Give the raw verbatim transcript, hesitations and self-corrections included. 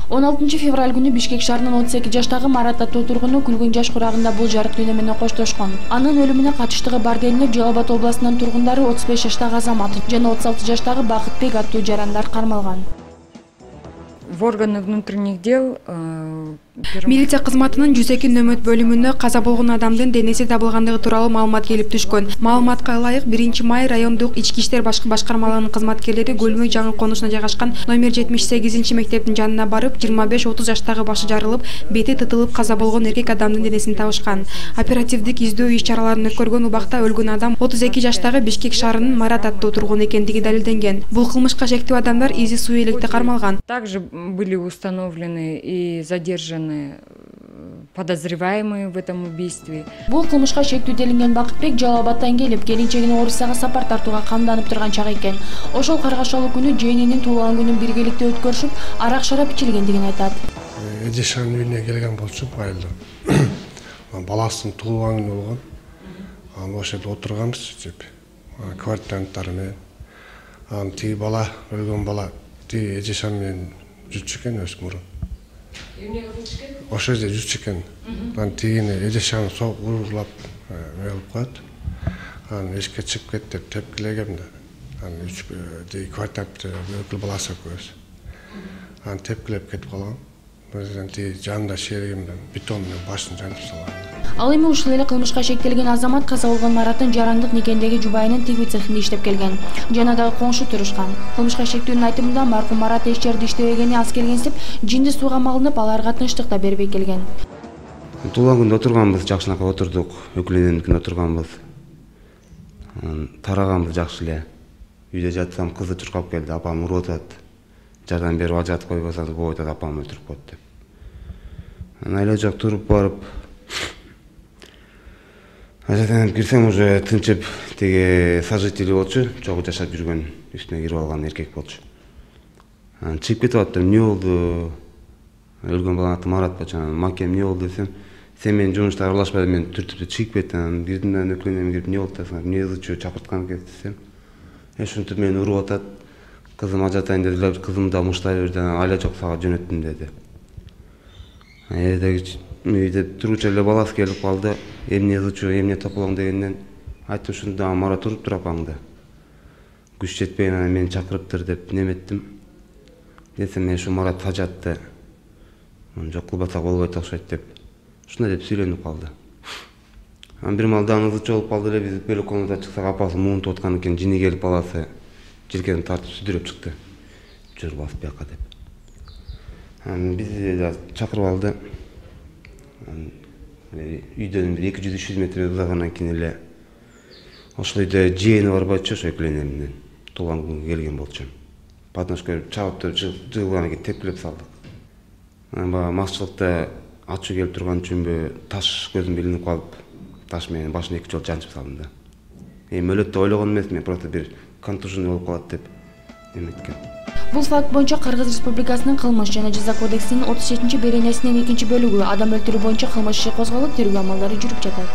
он алтынчы февраль күнү Бишкек шаарынын отуз эки жаштагы Марат аттуу тургуну күлгөн жаш курагында бул жарык дүйнө менен коштошкон. Анын өлүмүнө катыштыгы бар делинип, Жалал Абад областынын тургундары отуз беш жаштагы Азамат жана отуз алты жаштагы Бакытбек аттуу жарандар кармалган. В органы внутренних дел милиция кызматынын жүз эки нөмөт бөлүмүнө каза болгон адамдын денеси табылгандыгы тууралуу маалымат келип түшкөн. Маалыматка ылайык биринчи май райондук ички иштер башкы башкармалыгынын кызматкерлери Көлмөй жаңы конушуна жайгашкан номер жетимиш сегизинчи мектептин жанына барып, жыйырма беш отуз жаштагы башы жарылып, бети тытылып каза болгон эркек адамдын денесин табышкан. Оперативдик издөө иш-чараларын өткөргөн убакта өлгөн адам отуз эки жаштагы Бишкек шаарынын Марат аттуу тургуну экендиги далилденген. Бул кылмышка шектүү адамдар изи суу электе кармалган. Также были установлены и задержаны подозреваемые в этом убийстве. Бул кылмышка шектүү делинген Бакытбек Жалал Абадтан келип, келинчегине Орусияга сапар тартууга камданып турган чак экен. Ошол каргашалуу күнү жээнинин туулган күнүн биргеликте өткөрүшүп, арак шарап ичилгендигин айтат. Эжешанын үйүнө келген болчу айылда. Баласынын туулган күнү болгон. Анан ошол жерде отурганбыз деп. Квартиранттар менен. Анан тиги бала, өлгөн бала, тиги эжешан менен жүрчү экен өз мурун. Эмнеге жүрчү экен? Ошол жерде жүрчү экен. Анан тигини эжешаны согуп урурлап өлүп коет. Анан эшикке чыгып кет деп тепкилегем да. Анан үч тиги квартирант өкүл баласы экөөбүз. Анан тепкилеп кетип калган. Өзүнүн тиги жанында шеригим бетон менен башын жанып салган. Ал эми ушул эле кылмышка шектелген Азамат каза болгон Мараттын жарандык никендеги жубайынын тигүү цехинде иштеп келген. Жана дагы коңшу турушкан. Кылмышка шектүүнүн айтымында маркум Марат эч жерде иштебегени аз келгенсип, жинди сууга малынып, аларга тынчтык да бербей келген. Туулган күндө отурганбыз, жакшынакай отурдук, өкүлүнүнүн отурганбыз. Тараганбыз жакшы эле. Үйдө жатсам кызы чуркап келди, апам уруп атат. Жардам берип жатып койбосоңуз болбойт атат, апам өлтүрүп коет деп. Анан айла жок туруп барып ажатанып кирсем уже тынчып, тиги сожители болчу, чогуу жашап жүргөн, үстүнө кирип алган эркек болчу. Анан чыгып кетип аттым, эмне болду? Өлгөн баланын аты Марат болчу. Анан макем эмне болду десем, сен менин жумушта аралашпай, мен түртүп чыгып кеттим. Анан кирдим да өкүлүнө кирип, эмне болду десем, эмне ызычуу чакырткан экен десем, ушинтип мени уруп атат. Кызым ажатайын дедилер, кызым да муштай берди, айла жок сага жөнөттүм деди. Эдеги үйдө турчу эле баласы келип калды. Эмне ызычуу, эмне тополоң дегенден айттым, ушунда Марат уруп тур апаңды. Күч жетпеген, анан мени чакырыптыр деп неметтим. Десем, мен ушу Марат сажатты. Жок кылбасак болбойт окшойт деп. Ушундай деп сүйлөнүп калды. Анан бир маалда ызычуу болуп калды эле, биз бөлөк комнатага чыксак, апасы муунтуп аткан экен, жини келип баласы желкеден тартып сүдүрөп чыкты. Жүр басып бияка деп. Анан бизди да чакырып алды. Үйдөн бир эки жүз үч жүз метр узагандан кийин эле ошол үйдө жээни бар болчу, ошо экөөнүнөн туулган күнгө келген болчу. Подножка берип чабып туруп жыгылгандан кийин тепкилеп салдык. Анан баягы макчылыкта ачуу келип турган үчүнбү таш көзүм илинип калып, таш менен башын эки жолу жанчып салдым да. Эми өлөт деп ойлогон эмесмин, просто бир контужен болуп калат деп эметкем. Бул факт боюнча Кыргыз Республикасынын кылмыш жана жаза кодексинин отуз жетинчи беренесинин экинчи бөлүгү адам өлтүрүү боюнча кылмыш иши козголуп, тергөө амалдары жүрүп жатат.